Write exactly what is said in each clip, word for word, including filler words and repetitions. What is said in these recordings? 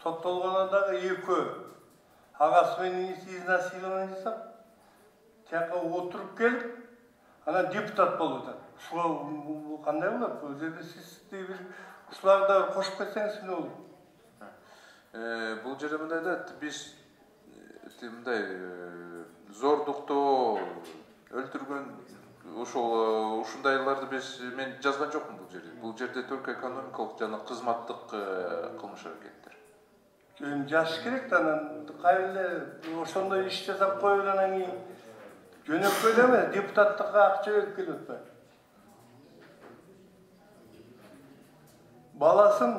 соттолгондо дагы экөө агасы менен изнасилование жасап, тияка отуруп келип, анан депутат болуп атат. Ушуга кандай болот? Бул жерде сиз бир ушуларды да кошуп кетсеңиз эмне болот? Бул жерде мындай да биз мындай зордуктоо, өлтүргөн ошол ушундайларды биз мен жазган жокмун бул жерде. Бул жерде только экономикалык жана кызматтык кылмыш аракеттер. Эми жазыш керек да, анан кайра ошондой иш жасап коюп анан кийин жөнөкөй эле эмес, депутаттыкка акча берип келип атпайбы? Баласын,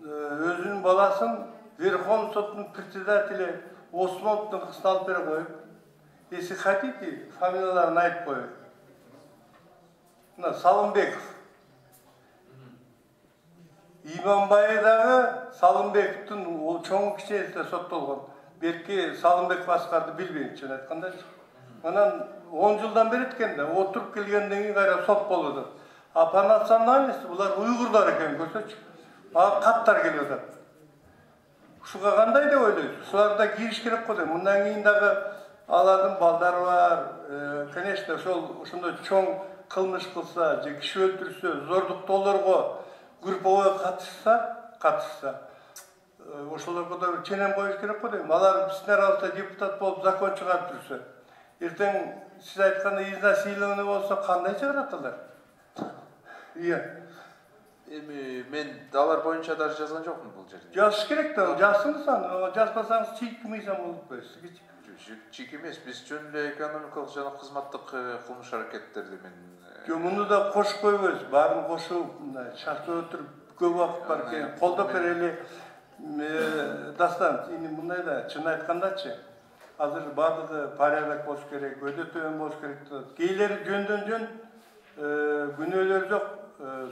өзүнүн баласын Верховный соттун председатели Осмоновдун кызына алып бере коюп, если хотите, фамилияларын айтып коюп. Мына Салымбеков. Иманбай дагы Салымбековдун чоң кичинеси соттолгон. Белки Салымбеков Аскарды билбейм, чын айткандачы. Анан он жылдан бери экен да, отуруп келгенден кийин кайра сот болуп атат. А по национальности булар уйгурлар экен, көрсөчү. Ага каттар келип атат. Ушуга кандай деп ойлойсуз? Ушуларда кириш керек го дейм. Мындан кийин дагы алардын балдары бар. Конечно, ошол ошондой чоң кылмыш кылса, же киши өлтүрсө, зордуктоолорго групповой катышса, катышса, ошолорго да ченем коюш керек го дейм. Алар биздин арабызда депутат болуп закон чыгарып жүрсө, эртең сиз айткандай изнасилование болсо кандай чыгарат алар? Ия. Эми мен алар боюнча даже жазган жокмун бул жерде. Жазыш керек да, жазсыңыз аны, жазбасаңыз чийик мыйзам болуп коет. Чийик эмес, биз жөн эле экономикалык жана кызматтык кылмыш аракеттерди мен. Жок, муну да кошуп койбойбуз, баарын кошуп, мындай шарттап отуруп көп убакыт бар экен, колдоп берели. Дастан, эми мындай да, чын айткандачы, азыр баардыгы порядок болуш керек, өйдө төмөн болуш керек деп. Кейлери жөндөн жөн күнөөлөр жок,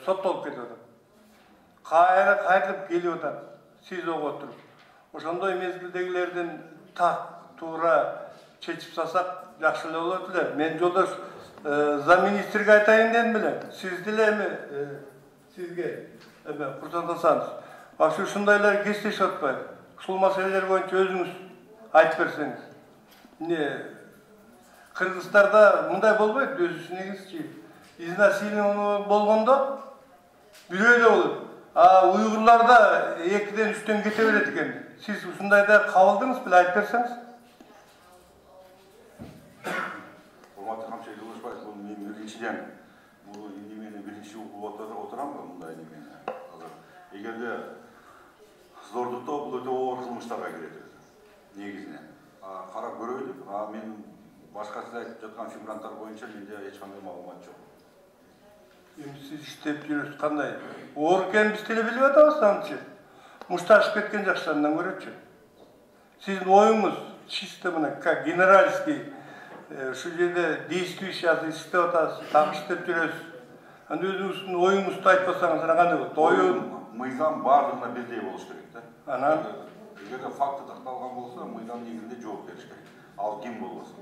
соттолуп кетип атат. Кайра кайтып келип атат, СИЗОго отуруп. Ошондой мезгилдегилердин так туура чечип салсак жакшы эле болот эле. Мен жолдош замминистрге айтайын дедим беле. Сиз деле эми сизге эме курсандасаңыз, вообще ушундайлар кестешип атпайбы? Ушул маселелер боюнча өзүңүз айтып берсеңиз. Эмне Кыргызстарда мындай болбойт, өзүңүзчү. Изнасилование болгондо бирөө эле болот. А уйгурларда экиден үчтөн кете берет экен. Сиз ушундайда кабылдыңыз беле, айтып берсеңиз? Урматтуу Камчы Жолдошбаев, бул мен биринчиден бул немени биринчи угуп отурам го мындай немени. Эгерде зордуктоо бул өтө оор кылмыштарга кирет өзү негизинен. Карап көрөйлүк, а мен башка сиз айтып жаткан фигуранттар боюнча менде эч кандай маалымат жок. Эми сиз иштеп жүрөсүз кандай? Оор экенин биз деле билип атабыз антчы. Мушташып кеткен жакшыларынан көрөчү. Сиздин оюңуз чисто мына как генеральский ушул жерде действующий азыр иштеп атасыз, так иштеп жүрөсүз. Анда өзүңүздүн оюңузду айтпасаңыз ана кандай болот? Оюн мыйзам баардыгына бирдей болуш керек да. Анан эгерде факты такталган болсо, мыйзам негизинде жооп бериш керек. Ал ким болбосун.